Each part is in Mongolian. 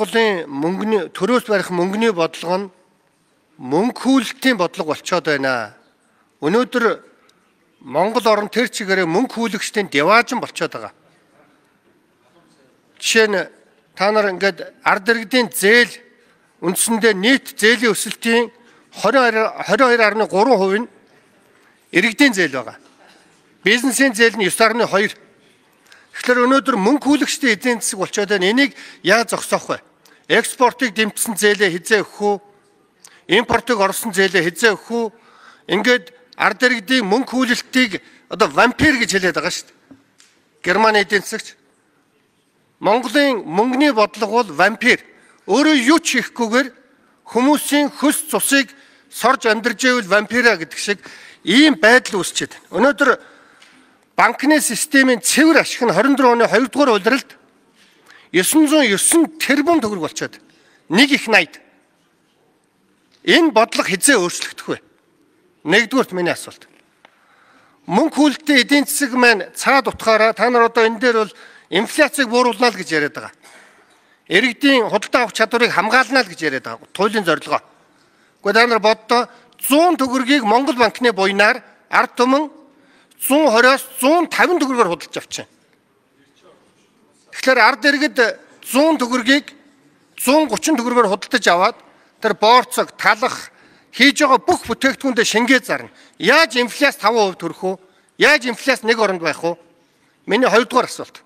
Монголын мөнгөний төрөөс барих мөнгөний бодлого нь мөнгө хүүлэлтийн бодлого болчиход байна. Өнөөдөр Монгол орн тэр чигээрээ мөнгө хүүлэгчдийн деваажин болчиход байгаа. Жишээ нь та нар ингээд ард иргэдийн зээл үндсэндээ нийт зээлийн өсөлтийн 22.3% нь иргэдийн зээл байгаа. Бизнесийн зээл нь 9.2. Тэгэхээр өнөөдөр мөнгө хүүлэгчдийн эзэн засаг болчиход байна. Энийг яаж зогсоох вэ? Экспортыг дэмжсэн зээлээ хизээ өгөх үү? Импортыг оруулсан зээлээ хизээ өгөх үү? Ингээд ард иргэдийн мөнгө хүүлэлтийг одоо вампир гэж хэлээд байгаа шүү дээ. Германы эдийн засагч. Монголын мөнгөний бодлого бол вампир. Өөрөө юу ч хийхгүйгээр хүмүүсийн хөс цусыг сорж амьдарч ивэл вампира гэдэг шиг ийм байдал үүсчихэд. Өнөөдөр банкны системийн цэвэр ашиг нь 24 оны 2 дугаар улиралд 909 тэрбум төгрөг болчиход нэг их 80. Энэ бодлого хизээ өөрчлөгдөх вэ? Нэгдүгээрт миний асуулт. Мөнгө хүүлэлтийн эдийн засаг маань цаад утгаараа та нар одоо энэ дээр бол инфляцийг бууруулна л гэж яриад байгаа. Иргэдийн худалдаа авах чадварыг хамгаална л гэж яриад байгаа. Туйлын зорилгоо. Гэхдээ та нар боддоо 100 төгрөгийг Монгол банкны буйнаар ард түмэн 120-аас 150 төгрөгөөр худалдаж авчихна. Тэгэхээр ард иргэд 100 төгрөгийг 130 төгрөгөөр худалдаж аваад тэр боорцог, талах хийж байгаа бүх бүтээгдэхүүндээ шингээ зарна. Яаж инфляц 5% төрөх вэ? Яаж инфляц нэг оронд байх вэ? Миний хоёрдугаар асуулт.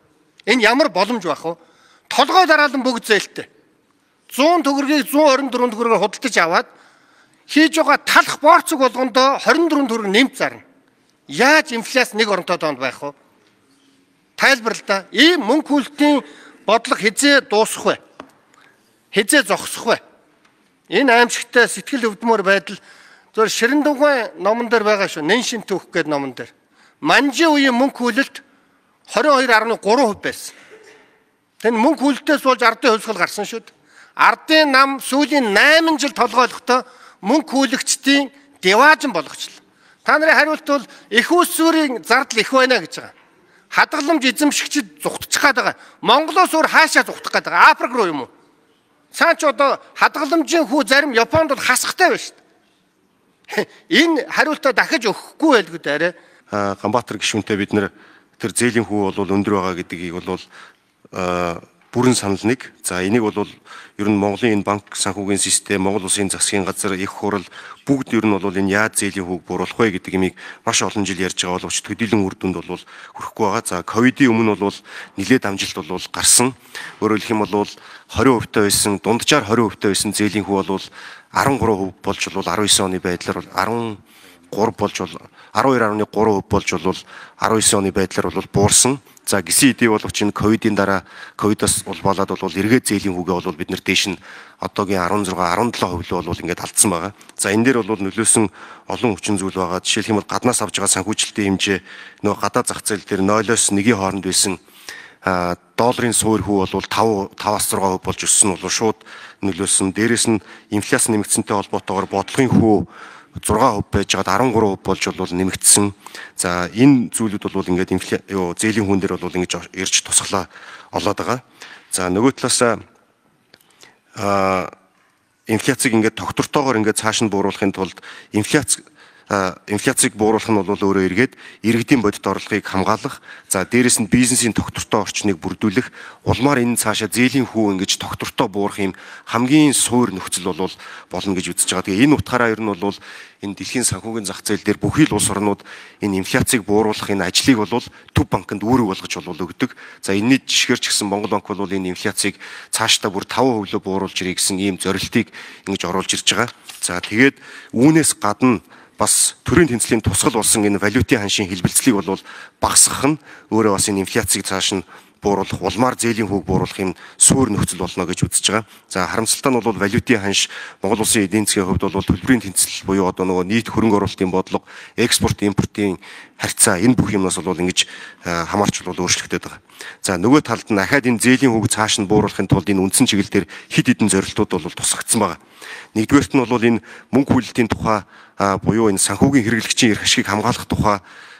Энэ ямар боломж байх вэ? Толгой дараалан бүгд зээлтэй. 100 төгрөгийг 124 төгрөгөөр худалдаж аваад хийж байгаа талах боорцог болгондоо 24 төгрөг нэмж зарна. Яаж инфляц нэг оронтой тоонд байх вэ? Тайлбарлаа да. Ийм мөнгө хүүлэлтийн бодлого хизээ дуусах вэ? Хизээ зогсох вэ? Энэ аимшигтай сэтгэл өвдмөр байдал зөв Ширэндугай номон дээр байгаа шүү. Нэншин түүх гэдэг номон дээр. Манжи үеийн мөнгө хүүлэлт 22.3% байсан. Тэн мөнгө хүүлэлтээс болж ардын хувьсгал гарсан шүү. Ардын нам сүүлийн 8 жил толгойлохдоо мөнгө хүүлэгчдийн деваажин болгочлоо. Та нарын хариулт бол их усүрийн зардал их байна гэж байгаа. Хадгаламж эзэмшигчид зүхтчих гээд байгаа. Монголоос өөр хаашаа зүхтах гээд байгаа? Африк руу юм уу? Цаа ч одоо хадгаламжийн хүү зарим Японд бол хасахтай байна шүү дээ. Энэ хариултаа дахиж өгөхгүй байлгүй дээрээ. Ганбаатар гишүүнтэй бид нэр тэр зээлийн хүү бол өндөр байгаа гэдгийг бол бүрэн санал нэг. За энийг бол ер нь Монголын энэ банк санхүүгийн систем, Монгол Улсын засгийн газар, их хурал бүгд ер нь бол энэ яаж зээлийн хүүг бууруулах вэ гэдэг имийг маш олон жил ярьж байгаа боловч төдийлөн үр дүнд бол хүрэхгүй байгаа. За ковидын өмнө бол нэлээд амжилт бол гарсан. Өөрөөр хэлэх юм бол 20% та байсан, дунджаар 20% та байсан зээлийн хүү бол 13% болж бол 19 оны байдлаар 13 болж бол 12.3% болж бол 19 оны байдлаар бол буурсан. За гисэн эдий боловч энэ ковидын дараа ковидоос болоод бол эргээд зээлийн хүүгээ бол бид нэр дээш нь одоогийн 16-17% л бол ингээд алдсан байгаа. За энэ дээр бол нөлөөсөн олон хүчин зүйл байгаа. Жишээлх юм бол гаднаас авж байгаа санхүүжилтийн хэмжээ нөгөө гадаа зах зээл дээр 0-оос 1-ийн хооронд байсан долларын суур хүү бол 5.6% болж өссөн нь бол шууд нөлөөсөн. Дээрээс нь инфляц нэмэгдсэнтэй холбоотойгоор бодлогын хүү 6% байж байгаад 13% болж бол нэмэгдсэн. За энэ зүйлүүд бол ингээд зээлийн хүн дээр бол ингэж ирж тусглаа олоод байгаа. За нөгөө талаас инфляцийг ингээд тогтвортойгоор ингээд цааш нь бууруулахын тулд инфляцийг бууруулах нь бол өөрөө эргээд иргэдийн бодит орлогыг хамгаалах, за дээрэс нь бизнесийн тогтвортой орчныг бүрдүүлэх, улмаар энэ цаашаа зээлийн хүү ингэж тогтвортой буурах юм хамгийн суур нөхцөл болно гэж үзэж байгаа. Тэгээ энэ утгаараа ер нь бол энэ дэлхийн санхүүгийн зах зээл дээр бүхий л улс орнууд энэ инфляцийг бууруулах энэ ажлыг бол төв банкнд үүрэг болгож өгдөг. За энэний жишгээр ч гэсэн Монгол банк бол энэ инфляцийг цаашдаа бүр 5% бууруулж ирэх гэсэн ийм зорилтыг ингэж оруулж ирж байгаа. За тэгээд үүнээс гадна бас төрийн тэнцлийн тусгал болсон энэ валютын ханшийн хэлбэлцлийг бол багасгах нь өөрөө бас энэ инфляцийг цааш нь бууруулах, улмаар зээлийн хүүг бууруулах юм суур нөхцөл болно гэж үзэж байгаа. За харамсалтай нь бол валютын ханш Монгол Улсын эдийн засгийн хувьд бол төлбөрийн тэнцэл буюу одоо нөгөө нийт хөрөнгө оруулалтын бодлого, экспорт, импортын харьцаа энэ бүх юмнаас бол ингэж хамаарч бол өөрчлөгдөд байгаа. За нөгөө талд нь ахаад энэ зээлийн хүүг цааш нь бууруулахын тулд энэ үндсэн чиглэл дээр хэд хэдэн зорилтууд бол тусгагдсан байгаа. Нэгдүгээрт нь бол энэ мөнгө хөлөлтийн тухай буюу энэ санхүүгийн хэрэглэгчийн эрх ашигыг хамгаалах тухай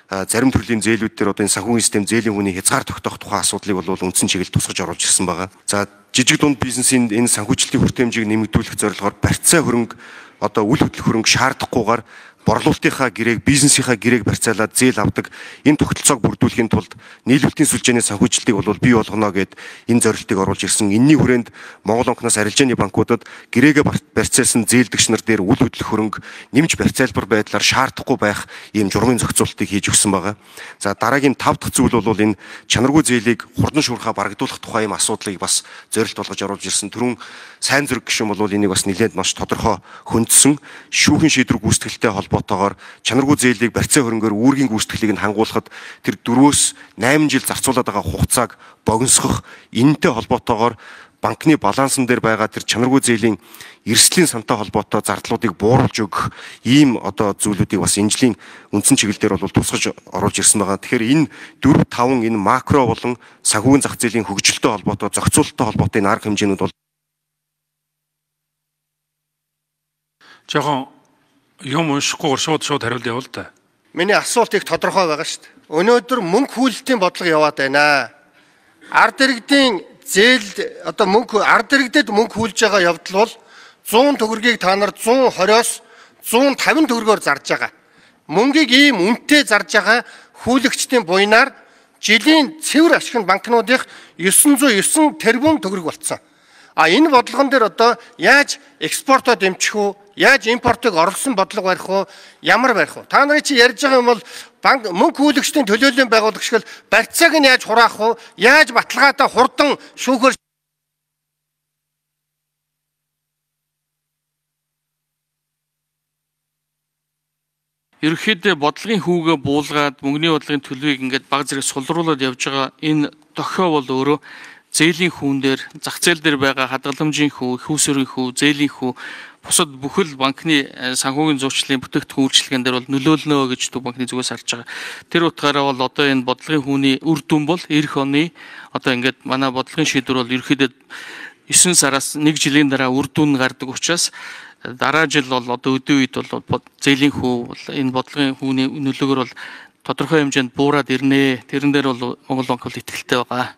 зарим төрлийн зээлүүд дээр одоо энэ санхүүгийн систем зээлийн хүний хязгаар тогтоох тухай асуудлыг бол үндсэн чиглэл тусгаж оруулж ирсэн байгаа. За жижиг дунд бизнесийн энэ санхүүжилтийн хүртээмжийг нэмэгдүүлэх зорилгоор барьцаа хөрөнгө одоо үл хөдлөх хөрөнгө шаардахгүйгээр борлуулалтынхаа гэрээг, бизнесийнхаа гэрээг барьцаалаад зээл авдаг энэ тогтолцоог бүрдүүлэхийн тулд нийлүүлэлтийн сүлжээний санхүүжилтийг бол бий болгоно гэд энэ зорилтыг оруулж ирсэн. Энэний хүрээнд Монгол банкнаас арилжааны банкудад гэрээгээ барьцаалсан зээлдэгч нар дээр үл хөдлөх хөрөнгө нэмж барьцаалбар байдлаар шаардахгүй байх ийм журмын зохицуултыг хийж өгсөн байгаа. За дараагийн 5 дахь зүйл бол энэ чанаргүй зээлийг хурдан шуурхаа барагдуулах тухай ийм асуудлыг бас зорилт болгож оруулж ирсэн. Түрүүн сайн зүрэг гишүүн бол энийг бас нэлээд маш тодорхой хөндсөн шүүхийн шийдвэр гүйцэтгэлтэй холбоотойгоор чанаргүй зээлийг барьцаа хөрөнгөөр үүргийн гүйцэтгэлийг нь хангуулахад тэр 4-8 жил зарцуулаад байгаа хугацааг богиносгох энэтэй холбоотойгоор банкны балансан дээр байгаа тэр чанаргүй зээлийн эрсдлийн сантай холбоотой зардлуудыг бууруулж өгөх ийм одоо зүйлүүдийг бас энэ жилийн үндсэн чиглэлээр бол тусгаж оруулж ирсэн байгаа. Тэгэхээр энэ 4-5 энэ макро болон санхүүгийн зах зээлийн хөгжилтэй холбоотой зохицуулалттай холбоотой энэ арга хэмжээнүүд бол жоохон юм уншихгүйгээр шууд хариулт явуул та. Миний асуулт их тодорхой байгаа шүү дээ. Өнөөдөр мөнгө хүлэлтийн бодлого яваад байна. Ард иргэдийн зээл одоо ард иргэдэд мөнгө хүлж байгаа явдал бол 100 төгрөгийг та нар 120-оос 150 төгрөгөөр зарж байгаа. Мөнгийг ийм үнэтэй зарж байгаа хүлэгчдийн буйнаар жилийн цэвэр ашигт банкнуудын 909 тэрбум төгрөг болцсон. Энэ бодлогон дээр одоо яаж экспортоо дэмжих үү? Яаж импортыг орлсон бодлого барих уу? Ямар барих уу? Та нарын чи ярьж байгаа юм бол банк мөнгө хүлэгчдийн төлөөллийн байгуулагч гэл барьцааг нь яаж хураах уу? Яаж баталгаатай хурдан шүүхээр Ерөнхийдөө бодлогын хүүгээ буулгаад мөнгөний бодлогын төлөвийг ингээд баг зэрэг сулруулад явж байгаа энэ дохио бол өөрөө зээлийн хүүн дээр, зах зээл дээр байгаа хадгаламжийн хүү, их усөрийн хүү, зээлийн хүү, бусад бүхэл банкны санхүүгийн зурчлалын бүтээгдэхүүн үйлчилгээнд дээр бол нөлөөлнө гэж Төв банкны зүгээс харж байгаа. Тэр утгаараа бол одоо энэ бодлогын хүүний үр дүн бол эх оны одоо ингээд манай бодлогын шийдвэр бол ерөнхийдөө 9 сараас 1 жилийн дараа үр дүн гардаг учраас дараа жил бол одоо өдөө үед бол зээлийн хүү бол энэ бодлогын хүүний нөлөөгөөр бол тодорхой хэмжээнд буураад ирнэ. Тэрэн дээр бол Монгол банк бол итгэлтэй байгаа.